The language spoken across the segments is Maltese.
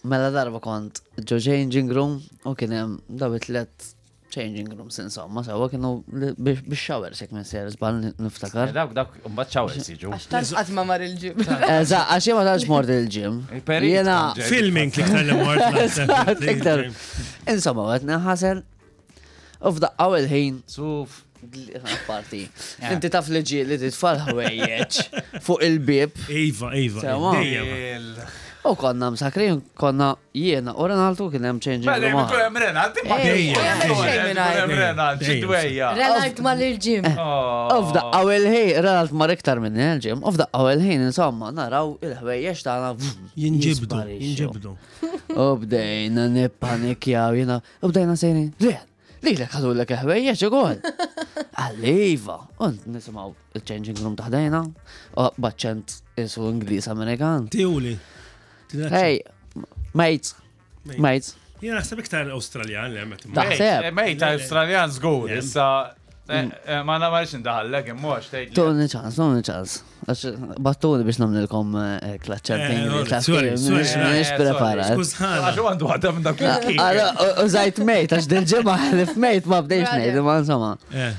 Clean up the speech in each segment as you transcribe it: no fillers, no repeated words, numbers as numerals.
Mela darba kont ġo changing room u kien hemm daw it-tlet changing rooms insomma, sewa kienu biex showers jekk minn ser żball niftakar. Dawk dawk mbagħad showers jiġu. Għax tant qatt ma mar il-ġim. Eżatt, għax jien ma tantx mort il-ġim. Jiena Filming l-iktar li mort. Iktar. Insomma, qed ninħasel u f'daqqa il-ħin. Suf. Parti. Inti taf li ġie li titfal ħwejjeġ fuq il-bib. Iva, iva. U konna msakrin, konna jiena u Renaltu kien hemm changing room. Mela, kien hemm Renalt, imma hemm Renalt, ġidwejja. Renalt mar il-ġim. U f'daqqa u il-ħin, Renalt mar iktar minni il-ġim, u f'daqqa u il-ħin, insomma, naraw il-ħwejjeġ tagħna. Jinġibdu, jinġibdu. U bdejna nippanikjaw jiena, u bdejna sejrin, Ren, Lilek ħadulek il-ħwejjeġ ukoll. Għalli iva. U nisimgħu il-changing room taħdejna, u b'aċċent isu Ingliż Amerikan. Tiwli. Hey, mate, mate. Jena naħseb iktar Australjan li għamet. Taħseb. Eh, mate, Australjan żgur, issa eh, eh, ma namarx indaħallek imma tgħid. Tuni ċans, tuni ċans. Għax battuni biex namlilkom eh, klaċċar Minix preparat. Għax għandu għadha minn dak Użajt mejt, għax dil-ġimgħa ħlif mejt ma bdejx ngħid, ma insomma. Eh.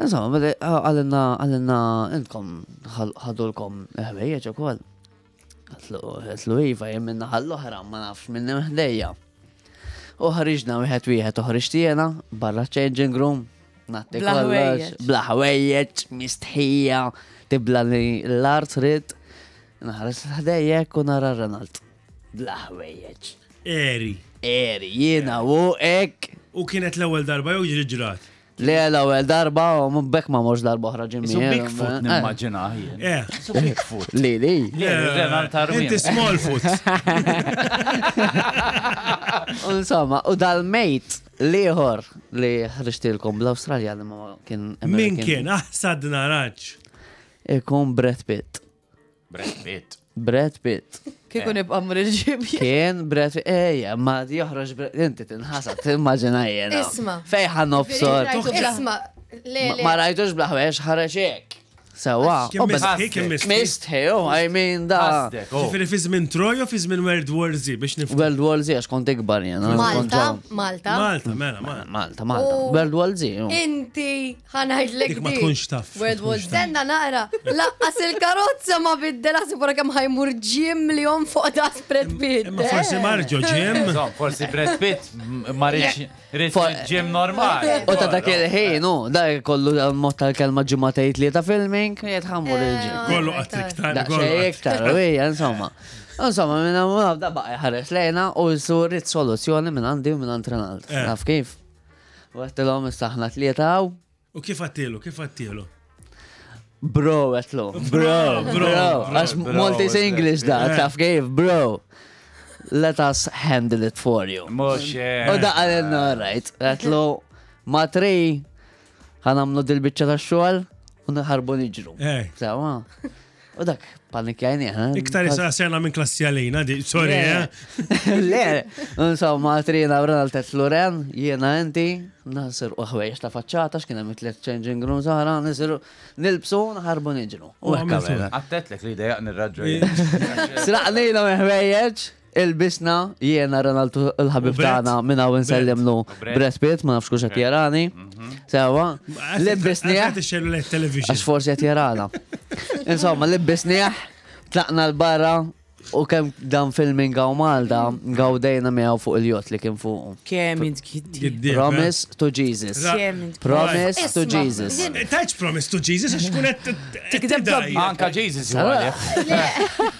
Insomma, għalinna għalinna intkom ħadulkom ħwejjeġ ukoll. Għatlu iva jien minna ħall-oħra ma nafx minn ħdejja. U ħriġna wieħed wieħed u ħriġt jiena barra changing room. Natti kollox, bla ħwejjeġ, mistħija, tibla li l-art rid. Naħares ħdejjek u nara Renald. Bla ħwejjeġ. Eri. Eri, jiena u hekk. U kienet l-ewwel darba jew ġri ġrat? Le l-ewwel darba u minn bekk ma mhux darba oħra ġimmi. Isu Bigfoot nimmaġina jien. Eh. Isu Bigfoot. Li li. Renald Armin. Inti Smallfoot. Insomma, u dal-mate liħor li ħriġtilkom bl-Awstralja li ma kien Min kien? Aħsad naraġ. Ikun Brad Pitt. Brad Pitt. Brad Pitt. Kieku nibqa' mmur il-ġim. Kien Brad Pitt. Ejja, ma joħroġ Brad Inti tinħasad, timmaġina jiena. Isma. Fejn ħa nobsor. Isma. Le, le. Ma rajtux bla ħwejjeġ ħareġ hekk. Sewa. Kien mistħi, kien mistħi. Mistħi, oh, I mean da. Ħasdek, oh. Ġifieri fi żmien Troy u fi żmien World War Z biex nifhem. World War Z għax kont ikbar jiena. Malta, Malta. Malta, mela, Malta. Malta, Malta. U- World War Z. oh. Inti ħanajdlek Dik ma tkunx taf. World War Stenna naqra, laqqas il-karozza ma biddel għasib wara kemm ħajmur ġim li jom fuq da spread Pitt. Imma forsi marġo ġim. Insomma, forsi Brad Pitt ma rridx rrid ġim normali. U ta' dak il-ħin, u da kollu mod tal-kelma ġimgħatejt li ta' filming, jitħammur il-ġim. Kollu qatt iktar. Daqsxejn iktar, u hija, insomma. Insomma, minn hawn da baqa' jħares lejna u rrid soluzzjoni minn għandi u minn għand Renald. Eh. Naf kif? U għedtilhom issa aħna tlieta hawn. U kif għattilu, kif għattilu? Bro, għetlu. Bro, bro. Għax Maltese English da, taf kif, bro. Let us handle it for you. Mux. U da għalinna, right. Għetlu, ma tri, ħanamlu dil-bicċa ta' xogħol u nħarbu niġru. Eh. Sewa. U dak panikjajni. Eh? Iktar issa sena minn klassi għalina, di, sorry, eh? Le, insomma, trina Ronald Tet Loren, jiena inti, nasir u ħwejjeġ ta' faċċata, x'kien hemm tliet changing rooms oħra, nisiru nilbsu nħarbu niġru. U hekk għamilna. Għattetlek li dejjaqni r-raġġu. Sraqnilhom il-ħwejjeġ, ilbisna, jiena Ronald il-ħabib tagħna minn hawn insellimlu Brad Pitt, ma nafx kux qed jarani. Sewa, libbisnieh. Għax forsi qed jarana. Insomma, libbisnieh, tlaqna l-barra u kemm dan filming għaw Malta, gawdejna miegħu fuq il-jott li kien fuq. Kemm int giddieb. Promise to Jesus. Kemm int Promise to Jesus. Tajċ promise to Jesus għax kun qed Tikdeb tidaj. Anka Jesus huwa għalih.